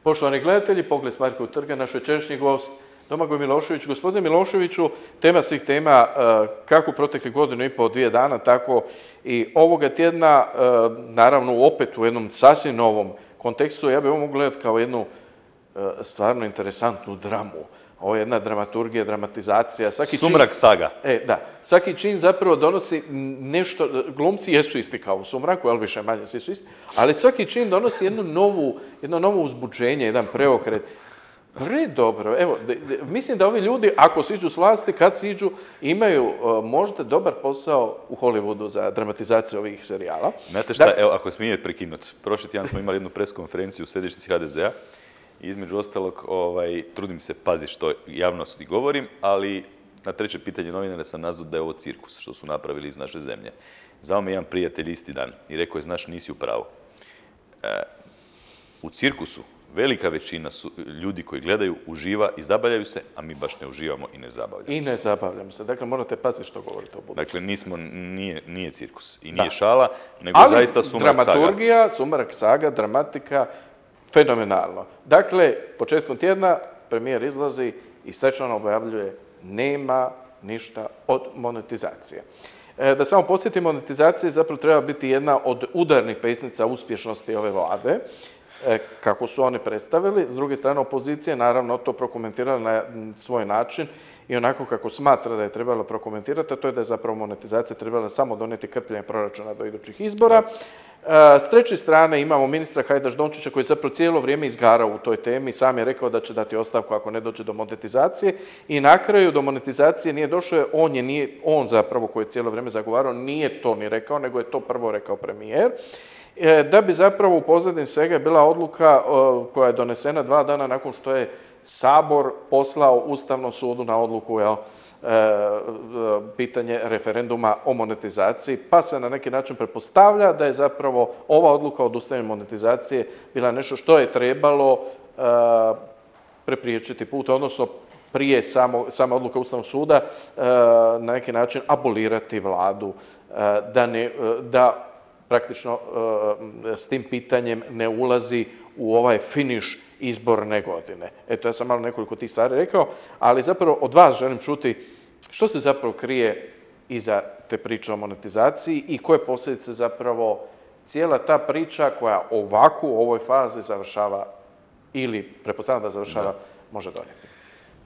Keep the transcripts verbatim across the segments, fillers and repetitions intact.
Poštovani gledatelji, Pogled s Markovog trga, naš večerašnji gost Domagoj Milošević. Gospodine Miloševiću, tema svih tema, kako protekli godinu i pol, dvije dana, tako i ovoga tjedna, naravno opet u jednom sasvim novom kontekstu, ja bih ovo mogu gledati kao jednu stvarno interesantnu dramu. Ovo je jedna dramaturgija, dramatizacija. Sumrak saga. E, da. Svaki čin zapravo donosi nešto, glumci jesu isti kao u Sumraku, ali više manje svi su isti, ali svaki čin donosi jednu novu, jedno novo uzbuđenje, jedan preokret. Pre dobro. Evo, mislim da ovi ljudi, ako siđu s vlasti, kad siđu, imaju možda dobar posao u Hollywoodu za dramatizaciju ovih serijala. Znate šta, evo, ako smije prekinuti. Prošli tjedan smo imali jednu preskonferenciju u središnjici ha de zea. Između ostalog, ovaj, trudim se paziti što javnosti govorim, ali na treće pitanje novinara sam nazvao da je ovo cirkus, što su napravili iz naše zemlje. Zvao me jedan prijatelj isti dan i rekao je, znaš, nisi u pravu. E, u cirkusu velika većina su ljudi koji gledaju, uživa i zabavljaju se, a mi baš ne uživamo i ne zabavljamo se. I ne zabavljamo se. Dakle, morate paziti što govorite o budućnosti. Dakle, nismo, nije, nije cirkus i nije da. šala, nego ali zaista Sumrak saga. Dramaturgija, Sumrak saga, dramatika, fenomenalno. Dakle, početkom tjedna premijer izlazi i svečano objavljuje nema ništa od monetizacije. E, da samo podsjetim, monetizacija zapravo treba biti jedna od udarnih pesnica uspješnosti ove vlade, e, kako su oni predstavili. S druge strane, opozicija naravno to prokomentirala na svoj način i onako kako smatra da je trebalo prokomentirati, a to je da je zapravo monetizacija trebala samo donijeti krpljenje proračuna do idućih izbora. S treće strane imamo ministra Hajdaš-Dončića koji zapravo cijelo vrijeme izgarao u toj temi. Sam je rekao da će dati ostavku ako ne dođe do monetizacije i na kraju do monetizacije nije došao. On je nije, on zapravo koji je cijelo vrijeme zagovarao nije to ni rekao, nego je to prvo rekao premijer. Da bi zapravo u pozadini svega bila odluka koja je donesena dva dana nakon što je Sabor poslao Ustavnom sudu na odluku, jel, pitanje referenduma o monetizaciji, pa se na neki način pretpostavlja da je zapravo ova odluka o odustajanju monetizacije bila nešto što je trebalo prepriječiti put, odnosno prije samo, sama odluka Ustavnog suda na neki način abolirati vladu, da, ne, da praktično s tim pitanjem ne ulazi u ovaj finiš izborne godine. Eto, ja sam malo nekoliko tih stvari rekao, ali zapravo od vas želim čuti što se zapravo krije iza te priče o monetizaciji i koje posljedice zapravo cijela ta priča koja ovako u ovoj fazi završava ili pretpostavljam da završava, da. može donijeti.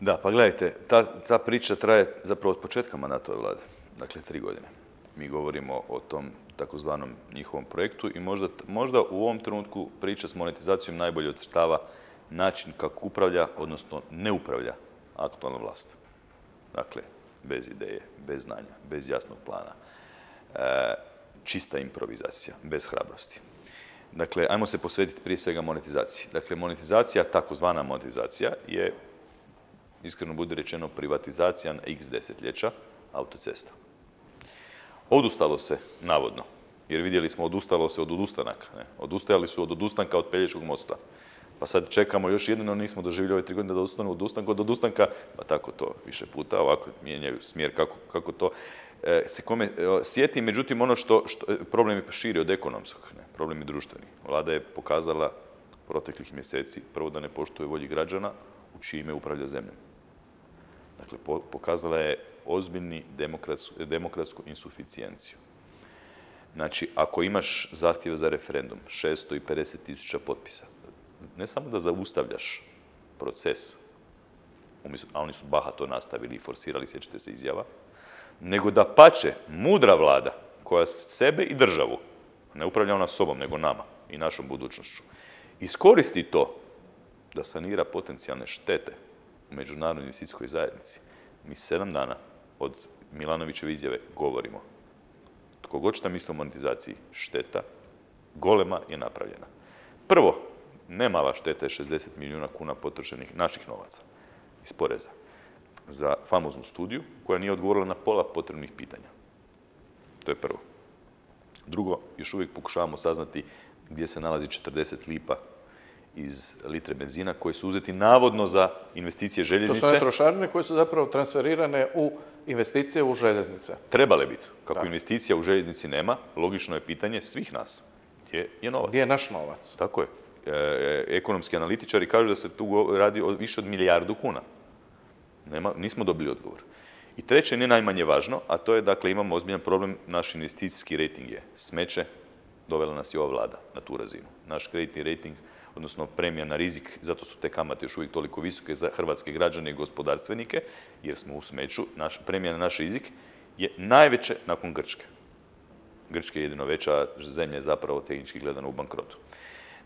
Da, pa gledajte, ta, ta priča traje zapravo od početka mandata ove vlade, dakle tri godine. Mi govorimo o tom takozvanom njihovom projektu i možda, možda u ovom trenutku priča s monetizacijom najbolje ocrtava način kako upravlja, odnosno ne upravlja aktualna vlast. Dakle, bez ideje, bez znanja, bez jasnog plana. E, čista improvizacija, bez hrabrosti. Dakle, ajmo se posvetiti prije svega monetizaciji. Dakle, monetizacija, takozvana monetizacija, je, iskreno bude rečeno, privatizacija na x desetljeća autocesta. Odustalo se, navodno, jer vidjeli smo odustalo se od odustanaka. Ne? Odustajali su od odustanka od Pelješkog mosta. Pa sad čekamo još jedino, nismo doživjeli ove tri godine da odustanu od odustanka od odustanka, pa tako to više puta ovako mijenjaju smjer kako, kako to e, se kome e, sjeti. Međutim, ono što, što problem je širi od ekonomskog, ne? Problem je društveni. Vlada je pokazala proteklih mjeseci prvo da ne poštuje volji građana u čije ime upravlja zemljom. Dakle, po, pokazala je ozbiljni demokratsku, demokratsku insuficijenciju. Znači, ako imaš zahtjev za referendum, šesto pedeset tisuća potpisa, ne samo da zaustavljaš proces, a oni su bahato nastavili i forsirali, sjećate se izjava, nego da pače mudra vlada koja sebe i državu, ne upravlja ona sobom, nego nama i našom budućnošću, iskoristi to da sanira potencijalne štete u međunarodnoj investicijskoj zajednici. Mi sedam dana od Milanovićeve izjave govorimo. Tko god šta misli o monetizaciji, šteta golema je napravljena. Prvo, nemala šteta je šezdeset milijuna kuna potrošenih naših novaca iz poreza za famoznu studiju koja nije odgovorila na pola potrebnih pitanja. To je prvo. Drugo, još uvijek pokušavamo saznati gdje se nalazi četrdeset lipa iz litre benzina koji su uzeti navodno za investicije željeznice. To su one trošarine koje su zapravo transferirane u investicije u željeznice. Trebale biti. Kako da. investicija u željeznici nema, logično je pitanje svih nas. Gdje je novac? Gdje je naš novac? Tako je. e, ekonomski analitičari kažu da se tu radi o više od milijardu kuna. Nema, nismo dobili odgovor. I treće, ne najmanje važno, a to je, dakle, imamo ozbiljan problem, naš investicijski rejting je smeće, dovela nas i ova vlada na tu razinu. Naš kreditni rejting, odnosno premija na rizik, zato su te kamate još uvijek toliko visoke za hrvatske građane i gospodarstvenike, jer smo u smeću, naš, premija na naš rizik je najveće nakon Grčke. Grčka je jedino veća zemlja je zapravo tehnički gledano u bankrotu.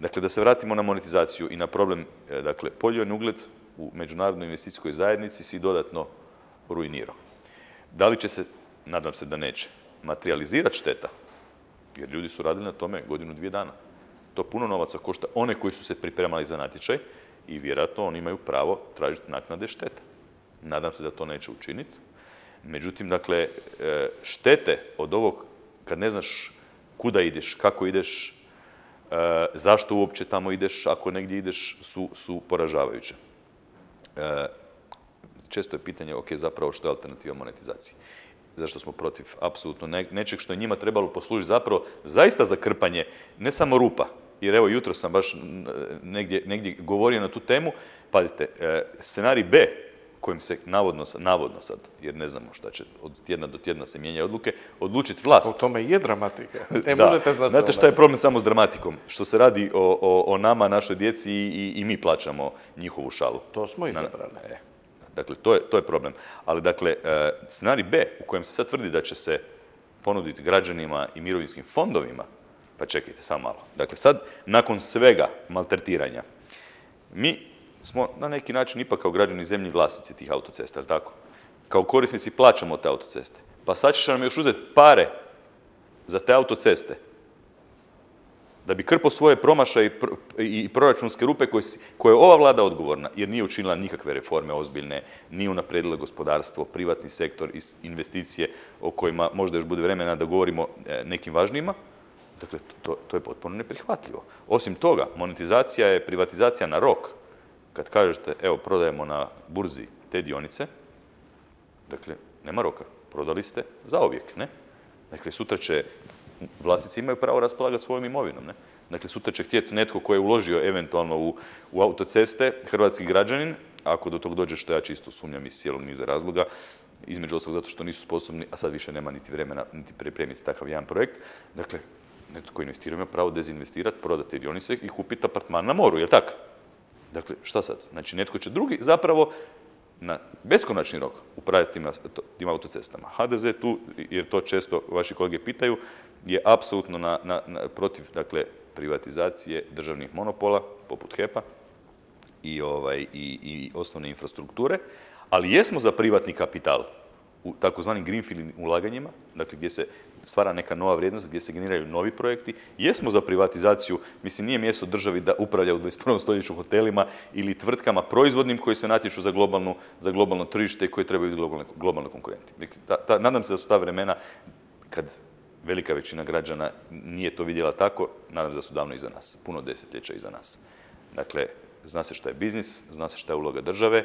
Dakle, da se vratimo na monetizaciju i na problem, dakle, poljoprivredni ugled u međunarodnoj investicijskoj zajednici si dodatno ruinirao. Da li će se, nadam se da neće, materializirati šteta, jer ljudi su radili na tome godinu, dvije dana. To puno novaca košta one koji su se pripremali za natječaj i vjerojatno oni imaju pravo tražiti naknade šteta. Nadam se da to neće učiniti. Međutim, dakle, štete od ovog, kad ne znaš kuda ideš, kako ideš, zašto uopće tamo ideš, ako negdje ideš, su, su poražavajuće. Često je pitanje, ok, zapravo što je alternativa monetizaciji. Zašto smo protiv apsolutno ne, nečeg što je njima trebalo poslužiti zapravo zaista za krpanje, ne samo rupa. Jer evo, jutro sam baš negdje, negdje govorio na tu temu. Pazite, scenarij B, kojim se navodno, navodno sad, jer ne znamo šta će, od tjedna do tjedna se mijenja odluke, odlučiti vlast. U tome je dramatika. Ne da. možete znati. Znate šta je problem samo s dramatikom? Što se radi o, o, o nama, našoj djeci i, i mi plaćamo njihovu šalu. To smo izabrali. E, dakle, to je, to je problem. Ali, dakle, scenarij B, u kojem se sad tvrdi da će se ponuditi građanima i mirovinskim fondovima, pa čekajte, samo malo. Dakle, sad, nakon svega maltretiranja, mi smo na neki način ipak kao građani zemlji vlasnici tih autocesta, ali tako? Kao korisnici plaćamo te autoceste. Pa sad ćeš nam još uzeti pare za te autoceste da bi krpao svoje promašaje i proračunske rupe koje, koje je ova vlada odgovorna, jer nije učinila nikakve reforme ozbiljne, nije unaprijedila gospodarstvo, privatni sektor, investicije o kojima možda još bude vremena da govorimo nekim važnijima. Dakle, to, to je potpuno neprihvatljivo. Osim toga, monetizacija je privatizacija na rok. Kad kažete, evo, prodajemo na burzi te dionice, dakle, nema roka. Prodali ste zauvijek, ne? Dakle, sutra će, vlasnici imaju pravo raspolagati svojom imovinom, ne? Dakle, sutra će htjeti netko ko je uložio eventualno u, u autoceste, hrvatski građanin, ako do tog dođe, što ja čisto sumnjam iz cijelog niza razloga, između ostalog zato što nisu sposobni, a sad više nema niti vremena, niti pripremiti takav jedan projekt. Dakle, netko ko investira ima pravo dezinvestirati, prodati te dionice i kupiti apartman na moru, je li tako? Dakle, šta sad? Znači, netko će drugi zapravo na beskonačni rok upravljati tim autocestama. ha de ze tu, jer to često vaši kolege pitaju, je apsolutno na, na, na, protiv, dakle, privatizacije državnih monopola, poput hepa i, ovaj, i, i osnovne infrastrukture, ali jesmo za privatni kapital u takozvanim greenfield ulaganjima, dakle, gdje se stvara neka nova vrijednost, gdje se generiraju novi projekti. Jesmo za privatizaciju, mislim, nije mjesto državi da upravlja u dvadeset prvom stoljeću hotelima ili tvrtkama proizvodnim koji se natječu za, globalnu, za globalno tržište i koji trebaju biti globalne, globalno konkurenti. Ta, ta, nadam se da su ta vremena, kad velika većina građana nije to vidjela tako, nadam se da su davno iza nas, puno desetljeća iza nas. Dakle, zna se šta je biznis, zna se šta je uloga države,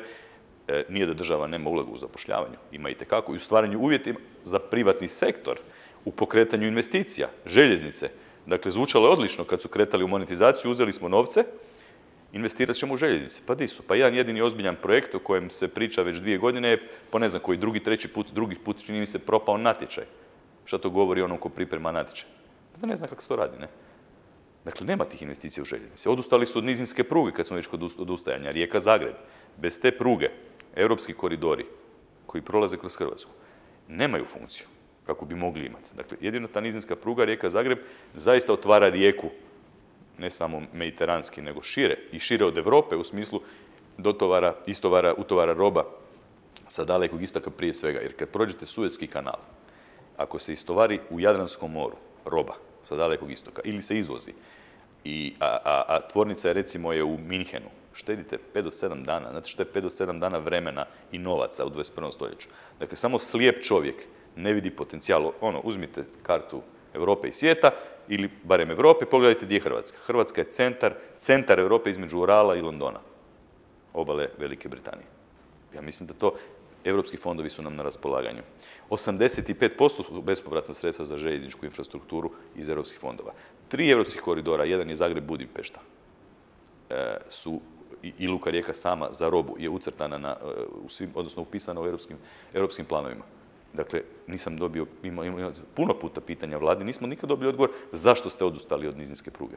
e, nije da država nema ulogu u zapošljavanju, ima itekako i u stvaranju uvjetima za privatni sektor, u pokretanju investicija, željeznice. Dakle, zvučalo je odlično kad su kretali u monetizaciju, uzeli smo novce, investirat ćemo u željeznice. Pa di su? Pa jedan jedini ozbiljan projekt o kojem se priča već dvije godine je, po ne znam koji drugi, treći put, drugi put čini mi se propao natječaj. Šta to govori onom ko priprema natječaj? Pa da ne zna kako se to radi, ne? Dakle, nema tih investicija u željeznice. Odustali su od nizinske pruge kad smo već kod odustajanja. Rijeka-Zagreb. Bez te pruge, europski koridori koji prolaze kroz Hrvatsku, nemaju funkciju kako bi mogli imati. Dakle, jedina ta nizinska pruga Rijeka-Zagreb zaista otvara Rijeku, ne samo mediteranski, nego šire i šire od Europe u smislu dotovara, istovara, utovara roba sa dalekog istoka prije svega. Jer kad prođete Suezki kanal, ako se istovari u Jadranskom moru roba sa dalekog istoka ili se izvozi, i, a, a, a tvornica je recimo je u Minhenu, štedite pet do sedam dana. Znate što je pet do sedam dana vremena i novaca u dvadeset prvom stoljeću. Dakle, samo slijep čovjek ne vidi potencijal. Ono, uzmite kartu Europe i svijeta, ili barem Europe, pogledajte gdje je Hrvatska. Hrvatska je centar, centar Europe između Urala i Londona, obale Velike Britanije. Ja mislim da to europski fondovi su nam na raspolaganju. osamdeset pet posto su bespovratna sredstva za željezničku infrastrukturu iz europskih fondova. Tri europskih koridora, jedan je Zagreb-Budimpešta. su i Luka Rijeka sama za robu je ucrtana na, u svim, odnosno upisana u europskim, europskim planovima. Dakle, nisam dobio, imao, imao puno puta pitanja vladi, nismo nikad dobili odgovor zašto ste odustali od nizinske pruge.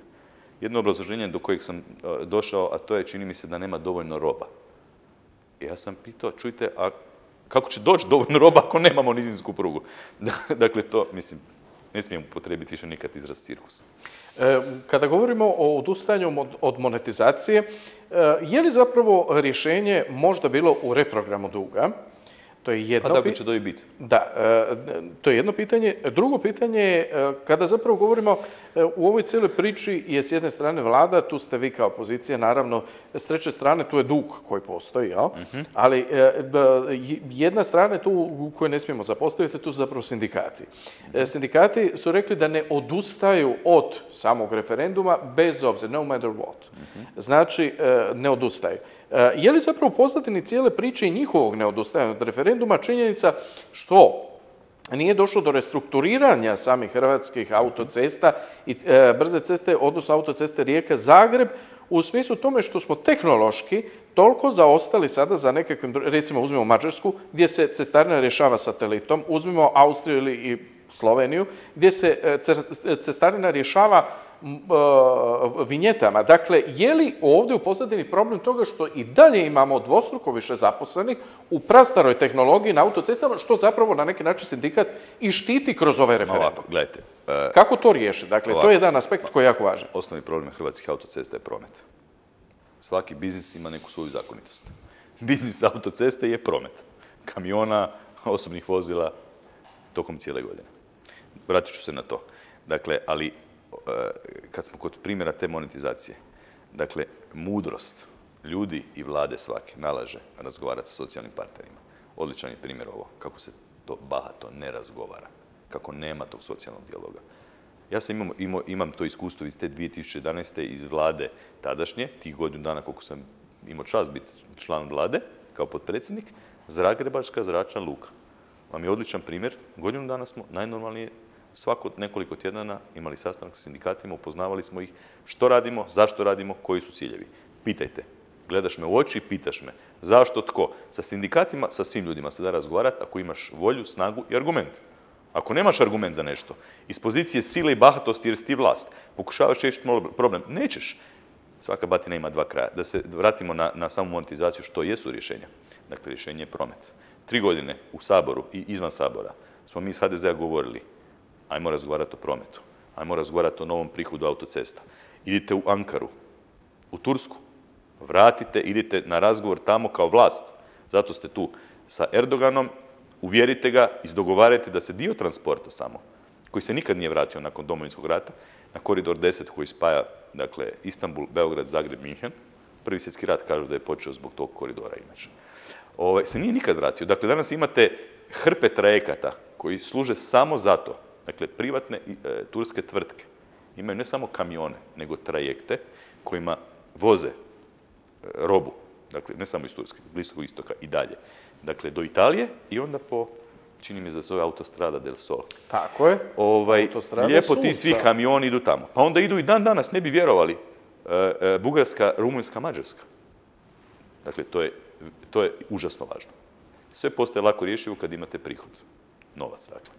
Jedno obrazloženje do kojeg sam došao, a to je, čini mi se da nema dovoljno roba. Ja sam pitao, čujte, a kako će doći dovoljno roba ako nemamo nizinsku prugu? Dakle, to, mislim, ne smijem upotrijebiti više nikad izraz cirkus. Kada govorimo o odustajanju od monetizacije, je li zapravo rješenje možda bilo u reprogramu duga? To je jedno pa da će to i biti. Da, to je jedno pitanje. Drugo pitanje je, kada zapravo govorimo u ovoj cijeloj priči je s jedne strane vlada, tu ste vi kao opozicija, naravno, s treće strane tu je dug koji postoji, jel? Uh-huh. Ali jedna strana tu koju ne smijemo zapostaviti, tu su zapravo sindikati. Uh-huh. Sindikati su rekli da ne odustaju od samog referenduma bez obzira, no matter what. Uh-huh. Znači, ne odustaju. Je li zapravo u pozadini cijele priče i njihovog neodustajanja od referenduma činjenica što nije došlo do restrukturiranja samih hrvatskih autocesta i e, brze ceste, odnosno autoceste Rijeka-Zagreb, u smislu tome što smo tehnološki toliko zaostali sada za nekakvim, recimo uzmimo Mađarsku, gdje se cestarina rješava satelitom, uzmimo Austriju ili i Sloveniju, gdje se cestarina rješava vinjetama. Dakle, je li ovdje u pozadini problem toga što i dalje imamo dvostruko više zaposlenih u prastaroj tehnologiji na autocestama, što zapravo na neki način sindikat i štiti kroz ove referendum? Ovako, gledajte. Uh, Kako to riješiti? Dakle, ovako, to je jedan aspekt koji je jako važan. Osnovni problem hrvatskih autocesta je promet. Svaki biznis ima neku svoju zakonitost. Biznis autoceste je promet. Kamiona, osobnih vozila, tokom cijele godine. Vratit ću se na to. Dakle, ali kad smo kod primjera te monetizacije, dakle, mudrost ljudi i vlade svake nalaže razgovarati sa socijalnim partnerima. Odličan je primjer ovo, kako se to bahato ne razgovara, kako nema tog socijalnog dijaloga. Ja sam imam, imam, imam to iskustvo iz te dvije tisuće jedanaeste iz vlade tadašnje, tih godinu dana koliko sam imao čast biti član vlade, kao potpredsjednik, Zagrebačka zračna luka. Vam je odličan primjer, godinu dana smo najnormalnije svako nekoliko tjedana imali sastanak sa sindikatima, upoznavali smo ih što radimo, zašto radimo, koji su ciljevi. Pitajte. Gledaš me u oči i pitaš me. Zašto, tko? Sa sindikatima, sa svim ljudima se da razgovarati ako imaš volju, snagu i argument. Ako nemaš argument za nešto, iz pozicije sile i bahatosti jer si ti vlast, pokušavaš riješiti problem, nećeš. Svaka batina ima dva kraja. Da se vratimo na, na samu monetizaciju što jesu rješenja. Dakle, rješenje je promet. Tri godine u Saboru i izvan Sabora smo mi iz ha de zea govorili ajmo razgovarati o prometu, ajmo razgovarati o novom prihodu autocesta. Idite u Ankaru, u Tursku, vratite, idite na razgovor tamo kao vlast. Zato ste tu sa Erdoganom, uvjerite ga, izdogovarajte da se dio transporta samo, koji se nikad nije vratio nakon Domovinskog rata, na koridor deset koji spaja, dakle, Istanbul, Beograd, Zagreb, Minhen. Prvi svjetski rat kažu da je počeo zbog tog koridora inače. Ove, se nije nikad vratio. Dakle, danas imate hrpe trajekata koji služe samo zato. Dakle, privatne e, turske tvrtke imaju ne samo kamione, nego trajekte kojima voze e, robu, dakle, ne samo iz Turske, Bliskog istoka i dalje. Dakle, do Italije i onda po, čini mi se da se zove Autostrada del Sol. Tako je. Ovaj, lijepo ti svi kamioni idu tamo. Pa onda idu i dan danas, ne bi vjerovali, e, e, Bugarska, Rumunjska, Mađarska. Dakle, to je, to je užasno važno. Sve postaje lako rješivo kad imate prihod. Novac, dakle.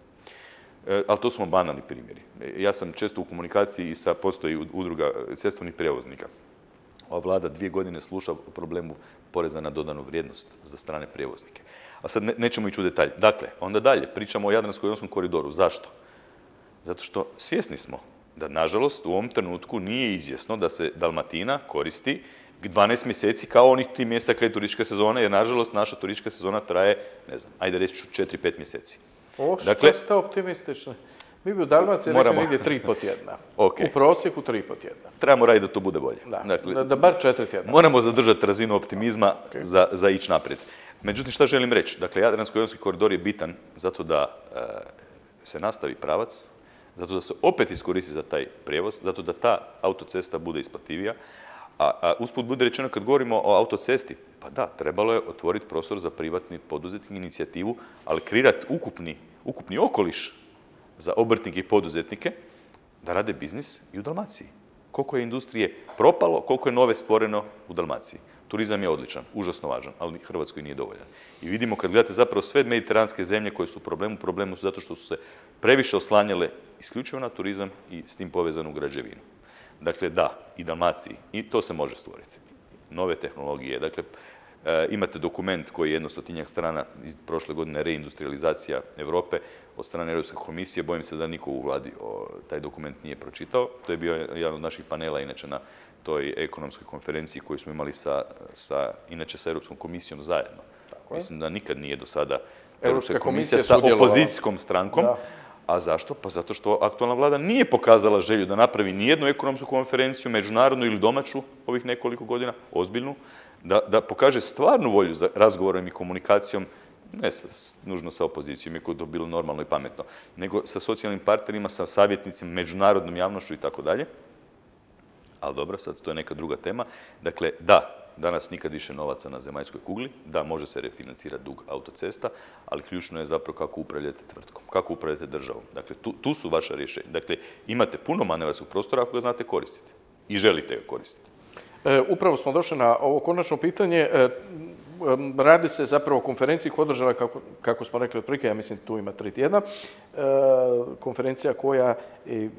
E, ali to su banalni primjeri. Ja sam često u komunikaciji i sa postoji udruga cestovnih prijevoznika. Ova vlada dvije godine sluša o problemu poreza na dodanu vrijednost za strane prijevoznike. A sad ne, nećemo ići u detalje. Dakle, onda dalje, pričamo o Jadransko-jonskom koridoru. Zašto? Zato što svjesni smo da, nažalost, u ovom trenutku nije izvjesno da se Dalmatina koristi dvanaest mjeseci kao onih tri mjeseca kad je turistička sezona, jer, nažalost, naša turistička sezona traje, ne znam, ajde reći ću četiri pet mjeseci. O, što dakle, ste optimistični? Mi bi u Dalmaciji moramo... rekli negdje tri po tjedna. Okay. U prosjeku tri po tjedna. Trebamo raditi da to bude bolje. Da, dakle, da, da bar četiri tjedna. Moramo zadržati razinu optimizma okay. za, za ići naprijed. Međutim, šta želim reći? Dakle, Jadransko-jonski koridor je bitan zato da e, se nastavi pravac, zato da se opet iskoristi za taj prijevoz, zato da ta autocesta bude isplativija. A, a usput bude rečeno, kad govorimo o autocesti, pa da, trebalo je otvoriti prostor za privatni poduzetnik inicijativu, ali kreirati ukupni, ukupni okoliš za obrtnike i poduzetnike da rade biznis i u Dalmaciji. Koliko je industrije propalo, koliko je nove stvoreno u Dalmaciji. Turizam je odličan, užasno važan, ali Hrvatskoj nije dovoljan. I vidimo kad gledate zapravo sve mediteranske zemlje koje su u problemu, problemu su zato što su se previše oslanjale isključivo na turizam i s tim povezanu građevinu. Dakle, da, i Dalmaciji, i to se može stvoriti. Nove tehnologije, dakle, e, imate dokument koji je jedno stotinjak strana iz prošle godine, reindustrializacija Europe, od strane Europske komisije, bojim se da niko u vladi o, taj dokument nije pročitao. To je bio jedan od naših panela, inače na toj ekonomskoj konferenciji koju smo imali sa, sa, inače sa Europskom komisijom zajedno. Tako Mislim da nikad nije do sada Europska komisija sa opozicijskom strankom. Da. A zašto? Pa zato što aktualna vlada nije pokazala želju da napravi nijednu ekonomsku konferenciju, međunarodnu ili domaću, ovih nekoliko godina, ozbiljnu, da, da pokaže stvarnu volju za razgovorom i komunikacijom, ne sa, nužno sa opozicijom, iako je to bilo normalno i pametno, nego sa socijalnim partnerima, sa savjetnicima, međunarodnom javnošću i tako dalje. Ali dobro, sad to je neka druga tema. Dakle, da, danas nikad više novaca na zemaljskoj kugli, da, može se refinancirati dug autocesta, ali ključno je zapravo kako upravljate tvrtkom, kako upravljate državom. Dakle, tu, tu su vaša rješenja. Dakle, imate puno manevarskog prostora ako ga znate koristiti i želite ga koristiti. E, upravo smo došli na ovo konačno pitanje. E, radi se zapravo o konferenciji koja je održala, kako, kako smo rekli otprilike, ja mislim tu ima tri tjedna, e, konferencija koja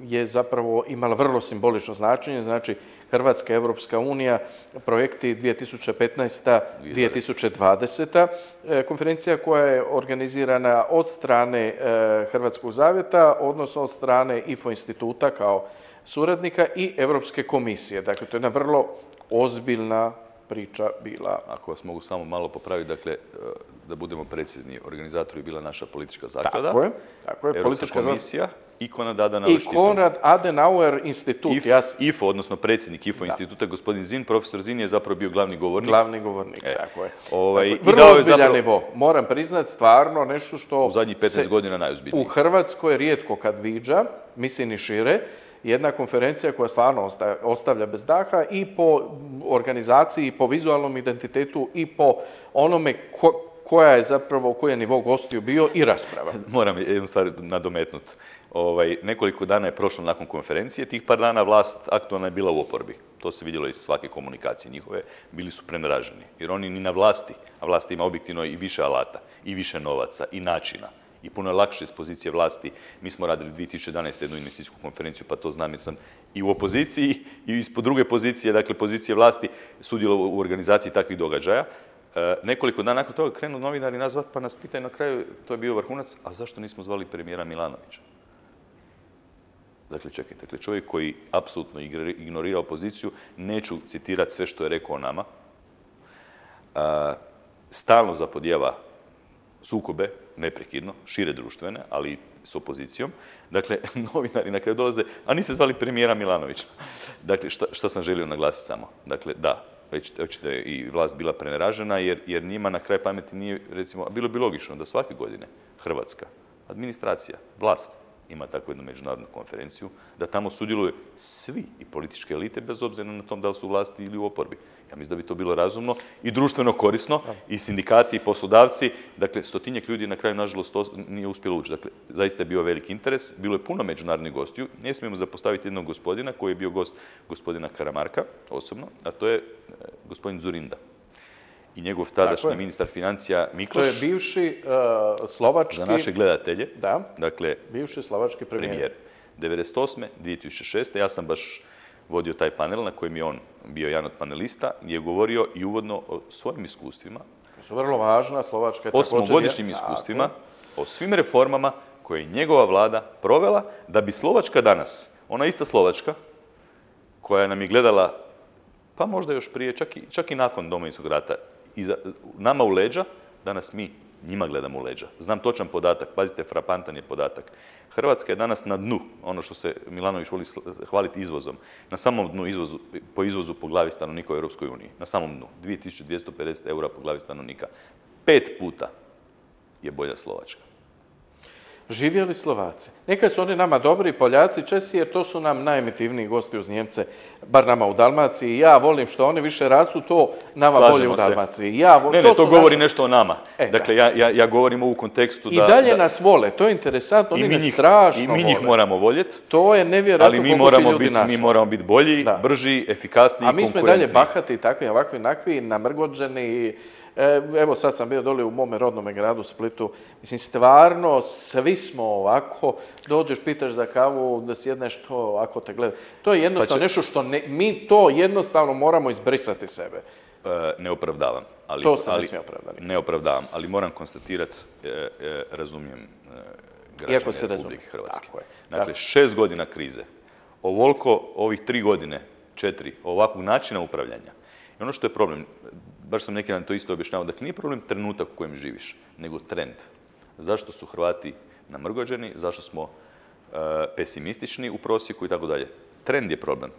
je zapravo imala vrlo simbolično značenje, znači Hrvatska, Evropska unija, projekti dvije tisuće petnaesta do dvije tisuće dvadeseta. Konferencija koja je organizirana od strane Hrvatskog zavjeta, odnosno od strane I F O instituta kao suradnika i Europske komisije. Dakle, to je jedna vrlo ozbiljna priča bila. Ako vas mogu samo malo popraviti, dakle, da budemo precizni, organizator je bila naša politička zaklada, tako je, tako je, Europska komisija i Konrad Adenauer I Konrad Adenauer institut. I F O, jas... I F O, odnosno predsjednik I F O da. instituta, gospodin Zin, profesor Zin je zapravo bio glavni govornik. Glavni govornik, e. tako je. Ovaj, tako, vrlo ozbiljan zapravo... nivo. Moram priznat, stvarno nešto što... U zadnjih petnaest godina najozbiljniji. U Hrvatskoj rijetko kad viđa, mislim i šire, jedna konferencija koja stvarno ostavlja bez daha i po organizaciji, i po vizualnom identitetu, i po onome ko, koja je zapravo, koji je nivo gostiju bio i rasprava. Moram jednu stvar nadometnuti. Ovaj, nekoliko dana je prošlo nakon konferencije, tih par dana vlast aktualna je bila u oporbi. To se vidjelo iz svake komunikacije njihove, bili su preneraženi. Jer oni ni na vlasti, a vlast ima objektivno i više alata, i više novaca, i načina. I puno je lakše iz pozicije vlasti. Mi smo radili dvije tisuće jedanaeste jednu investicijsku konferenciju, pa to znam jer sam i u opoziciji i ispod druge pozicije, dakle pozicije vlasti, sudjelovao u organizaciji takvih događaja. E, nekoliko dana nakon toga krenu novinari nazvat, pa nas pitaju na kraju, to je bio vrhunac, a zašto nismo zvali premijera Milanovića? Dakle, čekajte, dakle, čovjek koji apsolutno ignorira opoziciju, neću citirati sve što je rekao o nama, e, stalno zapodijeva sukobe, neprekidno, šire društvene, ali i s opozicijom. Dakle, novinari na kraju dolaze, a niste zvali premijera Milanovića. Dakle, šta, šta sam želio naglasiti samo? Dakle, da, već očito i vlast bila preneražena, jer, jer njima na kraj pameti nije, recimo, bilo bi logično da svake godine Hrvatska administracija, vlast, ima takvu jednu međunarodnu konferenciju, da tamo sudjeluju svi i političke elite, bez obzira na tom da li su u vlasti ili u oporbi. Ja mislim da bi to bilo razumno i društveno korisno, i sindikati, i poslodavci. Dakle, stotinjak ljudi na kraju, nažalost, to nije uspjelo ući. Dakle, zaista je bio veliki interes, bilo je puno međunarodnih gostiju. Ne smijemo zapostaviti jednog gospodina koji je bio gost gospodina Karamarka, osobno, a to je gospodin Dzurinda. I njegov tadašnji ministar financija Mikloš. To je bivši uh, slovački... Za naše gledatelje. Da, dakle, bivši slovački premijer. premijer. devedeset osme dvije tisuće šeste ja sam baš vodio taj panel na kojem je on bio jedan od panelista, je govorio i uvodno o svojim iskustvima. To su vrlo važna, Slovačka je također... Osmogodišnjim iskustvima, o svim reformama koje je njegova vlada provela, da bi Slovačka danas, ona ista Slovačka, koja nam je gledala, pa možda još prije, čak i, čak i nakon Domovinskog rata, iza, nama u leđa, danas mi njima gledamo u leđa. Znam točan podatak, pazite, frapantan je podatak. Hrvatska je danas na dnu, ono što se Milanović voli hvaliti izvozom, na samom dnu izvozu, po izvozu po glavi stanovnika u Europskoj uniji. Na samom dnu. dvije tisuće dvjesto pedeset eura po glavi stanovnika. Pet puta je bolja Slovačka. živjeli Slovaci. Neka su oni nama dobri, Poljaci, Česi, jer to su nam najemitivniji gosti uz Njemce, bar nama u Dalmaciji. Ja volim što oni više rastu, to nama Slažemo bolje u se. Dalmaciji. Ja, vo- Ne, to ne, to su govori naši- nešto o nama. E, Dakle, ja, ja, ja govorim u kontekstu da... I dalje da, nas vole, to je interesantno, i oni mi nas njih, strašno i mi njih vole. moramo voljeti, To je nevjerojatno ali mi koliko ti moramo, ljudi biti, nas mi vole. moramo biti bolji, Da. brži, efikasniji, A mi smo i dalje konkurentniji. bahati, takvi, ovakvi, nakvi, namrgođeni. E, Evo sad sam bio dole u mome rodnome gradu Splitu. Mislim, stvarno, svi smo ovako. Dođeš, pitaš za kavu, da sjedneš to, ovako te gleda. To je jednostavno Pa će- nešto što ne, mi to jednostavno moramo izbrisati sebe. E, ne opravdavam. Ali, To se ne ali, smije opravdati. Ne opravdavam, ali moram konstatirati, e, e, razumijem e, Iako građane se razumije. Republike Hrvatske. Tako je. Dakle, Tako. šest godina krize, ovoliko ovih tri godine, četiri, ovakvog načina upravljanja. I ono što je problem, baš sam neki dan to isto objašnjavao, dakle nije problem trenutak u kojem živiš, nego trend. Zašto su Hrvati namrgođeni, zašto smo e, pesimistični u prosjeku i tako dalje. Trend je problem.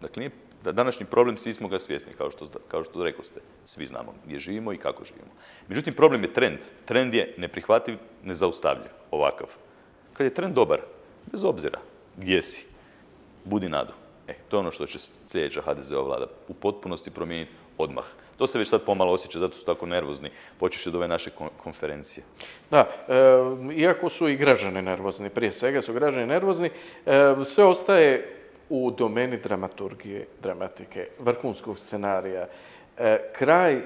Dakle, nije, da današnji problem, svi smo ga svjesni, kao što, kao što rekoste, svi znamo gdje živimo i kako živimo. Međutim, problem je trend. Trend je neprihvatljiv, nezaustavljiv, ovakav. Kad je trend dobar, bez obzira gdje si, budi nadu. E, to je ono što će sljedeća ha de ze ova vlada u potpunosti promijeniti odmah. To se već sad pomalo osjeća, zato su tako nervozni, počeš od ove naše kon- konferencije. Da, e, iako su i građani nervozni, prije svega su građani nervozni, e, sve ostaje u domeni dramaturgije, dramatike, vrhunskog scenarija. E, kraj e,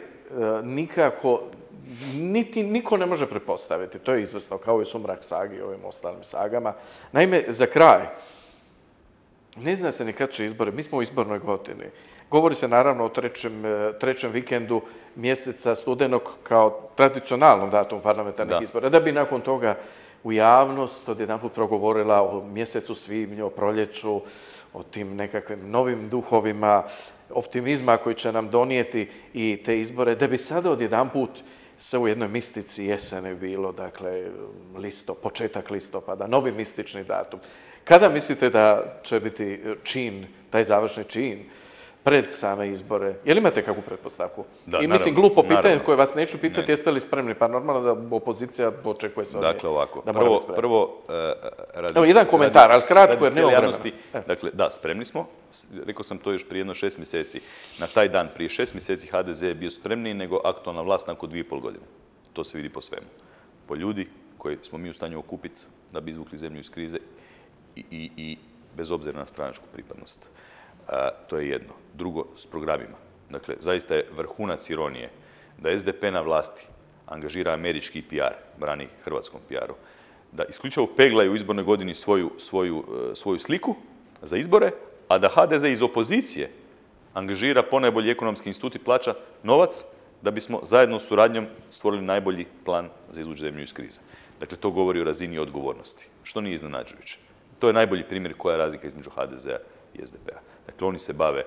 nikako, niti, niko ne može pretpostaviti, to je izvrsno, kao i Sumrak sagi i ovim ostalim sagama. Naime, za kraj, ne zna se ni kad će izbore, mi smo u izbornoj godini. Govori se naravno o trećem, e, trećem vikendu mjeseca studenog kao tradicionalnom datumu parlamentarnih Da. izbora, da bi nakon toga u javnost odjedanput progovorila o mjesecu svibnju, o proljeću, o tim nekakvim novim duhovima, optimizma koji će nam donijeti i te izbore, da bi sada odjedanput se u jednoj mistici jesene bilo, dakle, listo, početak listopada, novi mistični datum. Kada mislite da će biti čin, taj završni čin, pred same izbore? Je li imate kakvu pretpostavku? Da, I mislim, naravno, glupo pitanje naravno. koje vas neću pitati, Ne. jeste li spremni? Pa normalno da opozicija očekuje se od nje Dakle, ovako. da mora Prvo, biti spremna. prvo e, radi, Evo, jedan komentar, ali kratko, radi jer cijele nemamo javnosti. vremena. E. Dakle, da, spremni smo. S- Rekao sam to još prije jedno šest mjeseci. Na taj dan, prije šest mjeseci, ha de ze je bio spremniji nego aktualna vlast nakon dvije i pol godine. To se vidi po svemu. Po ljudi koji smo mi u stanju okupiti da bi izvukli zemlju iz krize i, i, i bez obzira na stranačku pripadnost. A, to je jedno. Drugo, s programima. Dakle, zaista je vrhunac ironije da es de pe na vlasti angažira američki pe er, brani hrvatskom pe eru, da isključivo peglaju u izbornoj godini svoju, svoju, e, svoju sliku za izbore, a da ha de ze iz opozicije angažira ponajbolji ekonomski institut i plaća novac da bismo zajedno s suradnjom stvorili najbolji plan za izvući zemlju iz krize. Dakle, to govori o razini odgovornosti, što nije iznenađujuće. To je najbolji primjer koja je razlika između ha de zea i es de pe-a. Dakle, oni se bave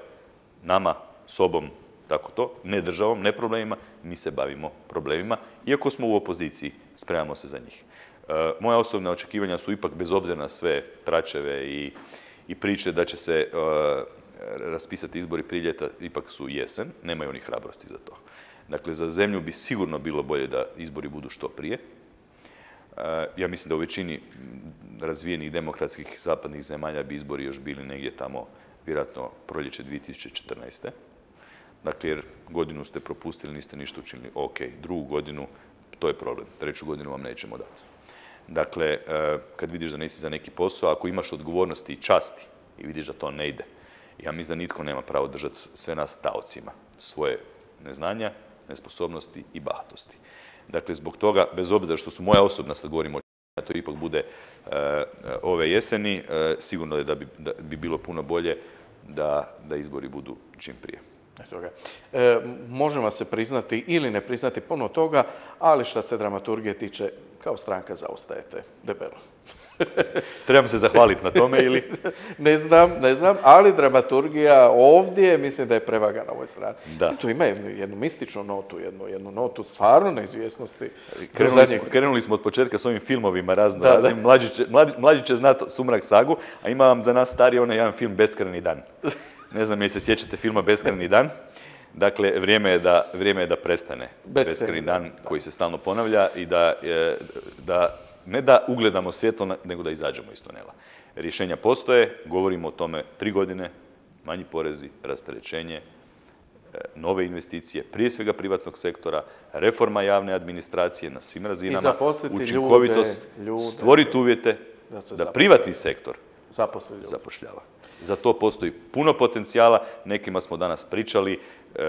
nama, sobom, tako to, ne državom, ne problemima, mi se bavimo problemima. Iako smo u opoziciji, spremamo se za njih. E, moja osobna očekivanja su ipak, bez obzira na sve tračeve i, i priče da će se e, raspisati izbori prije ljeta, ipak su jesen, nemaju oni hrabrosti za to. Dakle, za zemlju bi sigurno bilo bolje da izbori budu što prije. E, ja mislim da u većini razvijenih demokratskih zapadnih zemalja bi izbori još bili negdje tamo, vjerojatno proljeće dvije tisuće četrnaeste. Dakle, jer godinu ste propustili, niste ništa učinili. Ok, drugu godinu, to je problem. Treću godinu vam nećemo dati. Dakle, e, kad vidiš da nisi za neki posao, ako imaš odgovornosti i časti i vidiš da to ne ide, ja mislim da nitko nema pravo držati sve nas taocima svoje neznanja, nesposobnosti i bahatosti. Dakle, zbog toga, bez obzira što su moja osobna, sad govorimo o da to ipak bude e, ove jeseni, e, sigurno je da bi, da bi bilo puno bolje da, da izbori budu čim prije. Toga. E, možemo se priznati ili ne priznati puno toga, ali što se dramaturgije tiče, kao stranka zaostajete debelo. Trebam se zahvaliti na tome ili? Ne znam, ne znam, ali dramaturgija ovdje mislim da je prevaga na ovoj strani. Da. Tu ima jednu, jednu mističnu notu, jednu, jednu notu stvarno neizvjesnosti. Krenuli smo, krenuli smo od početka s ovim filmovima razno Da, raznim. da. Mlađi će, mlađi, mlađi će znati Sumrak sagu, a ima vam za nas stariji onaj jedan film Beskrajni dan. Ne znam jel se sjećate filma Beskrajni dan. Dakle, vrijeme je da, vrijeme je da prestane Beskrajni Beskrajni dan koji se stalno ponavlja i da, e, da ne da ugledamo svjetlo, nego da izađemo iz tunela. Rješenja postoje, govorimo o tome tri godine, manji porezi, rasterećenje, nove investicije, prije svega privatnog sektora, reforma javne administracije na svim razinama, učinkovitost, stvoriti uvjete da privatni sektor zapošljava. Za to postoji puno potencijala, nekima smo danas pričali,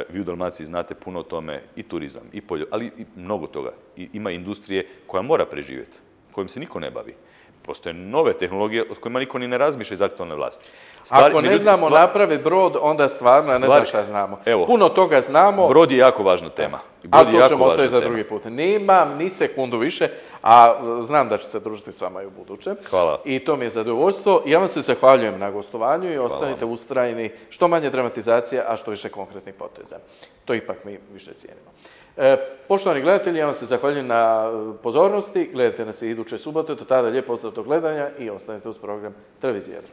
vi u Dalmaciji znate puno o tome, i turizam, i polje, ali i mnogo toga. I ima industrije koja mora preživjeti, kojim se niko ne bavi. Postoje nove tehnologije od kojima niko ni ne razmišlja iz aktualne vlasti. Stvari, Ako ne znamo stvar... napraviti brod, onda stvarno stvari... ne znam šta znamo. Evo, puno toga znamo. Brod je jako važna tema. Ali to ćemo ostaviti za drugi put. Nemam ni sekundu više, a znam da ću se družiti s vama i u budućem. Hvala. I to mi je zadovoljstvo. Ja vam se zahvaljujem na gostovanju i ostanite ustrajni, što manje dramatizacija, a što više konkretnih poteza. To ipak mi više cijenimo. E, poštovani gledatelji, ja vam se zahvaljujem na pozornosti. Gledajte nas i iduće subote. Do tada lijep pozdrav do gledanja i ostanite uz program Televizije Jadran.